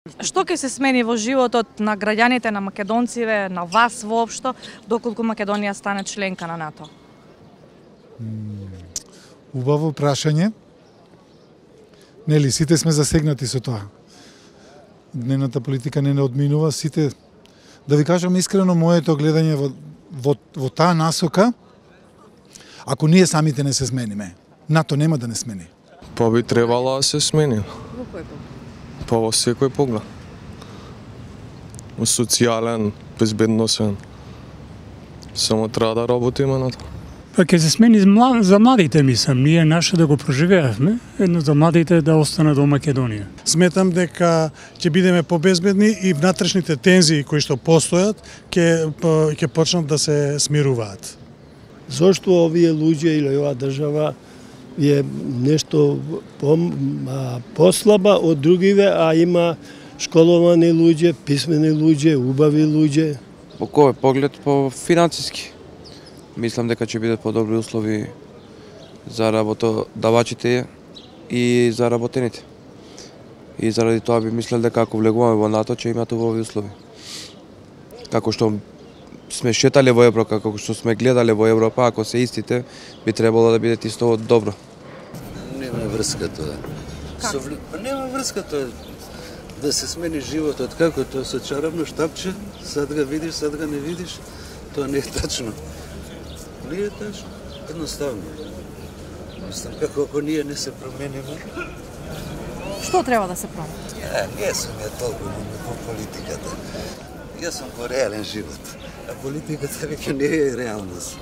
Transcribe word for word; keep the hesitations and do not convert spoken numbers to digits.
Што ќе се смени во животот на граѓаните, на македонците, на вас воопшто, доколку Македонија стане членка на НАТО? Убаво прашање. Нели, сите сме засегнати со тоа. Дневната политика не не одминува, сите, да ви кажам искрено, моето гледање во, во, во таа насока, ако ние самите не се смениме, НАТО нема да не смени. Па би требало да се смени. Во кој поглед? Па во секој поглед. Во социјален, безбедносен. Само треба да работиме на тоа. Па ќе се смени за младите, мислам, ние наше да го проживеавме, едно за младите да остане до Македонија. Сметам дека ќе бидеме побезбедни и внатрешните тензии кои што постојат ќе ќе почнат да се смируваат. Зошто овие луѓе или оваа држава е нешто по, а, послаба од другиве, а има школовани луѓе, писмени луѓе, убави луѓе? По кој поглед? По финансиски. Мислам дека ќе бидат подобри услови за работодавачите и за работените. И заради тоа би мислел дека ако влегуваме во НАТО ќе имат убави услови. Како што сме шетале во Европа, како што сме гледале во Европа, ако се истите, би требало да бидат исто добро. Нема врска тоа. Со... Нема врска тоа. Да се смени животот како тоа со чарапно штапче, сад го видиш, сад го не видиш, тоа не е тачно. Не е тачно, едноставно. Мислам како ако ние не се промениме. Што треба да се промени? Ја, не сум ја толку по политиката. Јас сум во реален живот, а политиката веќе не е реалност.